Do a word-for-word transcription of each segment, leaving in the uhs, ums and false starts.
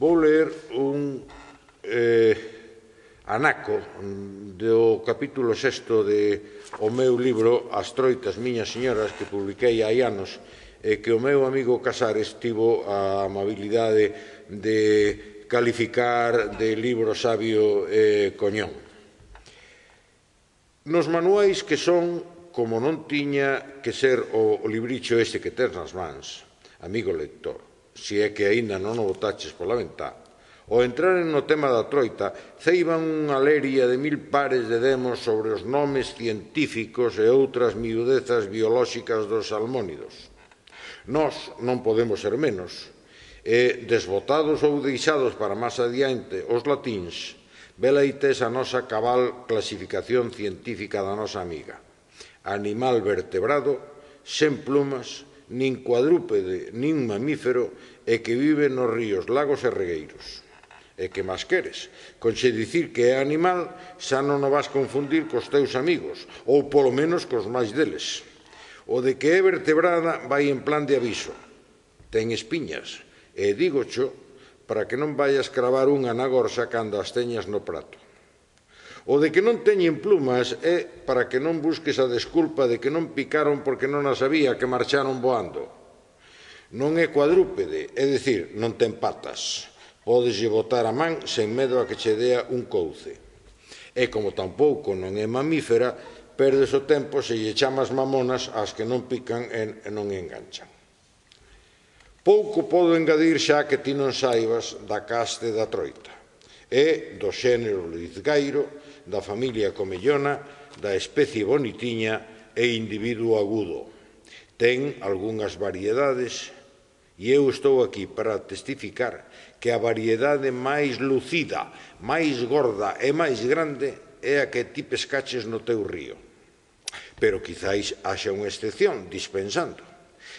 Vou ler un eh, anaco do capítulo sexto de o meu libro As troitas, miñas señoras, que publiquei hai anos, e que o meu amigo Casares tivo a amabilidade de calificar de libro sabio e coñón. Nos manuais que son como non tiña que ser o libricho este que tes nas mans, amigo lector, se é que aínda non o botaches pola ventá, ao entraren no tema da troita, ceiban unha leria de mil pares de demos sobre os nomes científicos e outras miudezas biolóxicas dos salmónidos. Nós non podemos ser menos, e desbotados ou deixados para máis adiante os latíns, velaí tes a nosa cabal clasificación científica da nosa amiga. Animal vertebrado, sen plumas, nin cuadrúpede, nin mamífero, e que vive nos ríos, lagos e regueiros. E que máis queres? Con xe dicir que é animal, xa non o vas confundir cos teus amigos, ou polo menos cos máis deles. O de que é vertebrada vai en plan de aviso. Ten espiñas, e dígocho para que non vayas cravar unha na gorsa cando as teñas no prato. O de que non teñen plumas é para que non busques a desculpa de que non picaron porque non as había, que marcharon voando. Non é cuadrúpede, é dicir, non ten patas. Pódeslle botar a man sen medo a que che dea un couce. E como tampouco non é mamífera, perdes o tempo se lle chamas mamonas ás que non pican e non enganchan. Pouco podo engadir xa que ti non saibas da caste da troita. É do xénero lizgairo, da familia comellona, da especie bonitiña e individuo agudo. Ten algunhas variedades e eu estou aquí para testificar que a variedade máis lucida, máis gorda e máis grande é a que ti pescaches no teu río. Pero quizáis haxa unha excepción, dispensando.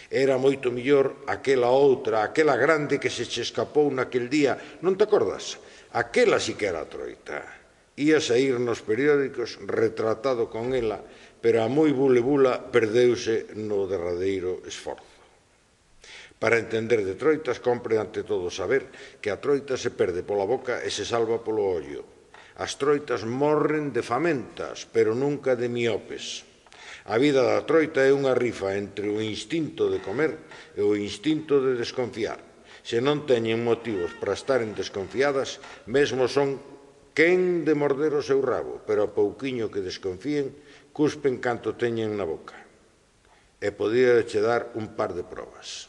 Era moito mellor aquela outra, aquela grande que se che escapou naquel día, non te acordas? Aquela sí que era a troita. Ia saír nos periódicos retratado con ela, pero a moi bule-bula perdeuse no derradeiro esforzo. Para entender de troitas, compre ante todo saber que a troita se perde pola boca e se salva polo ollo. As troitas morren de famentas, pero nunca de miopes. A vida da troita é unha rifa entre o instinto de comer e o instinto de desconfiar. Se non teñen motivos para estaren desconfiadas, mesmo son quen de morder o seu rabo, pero a pouquiño que desconfíen, cuspen canto teñen na boca. E podía che dar un par de probas.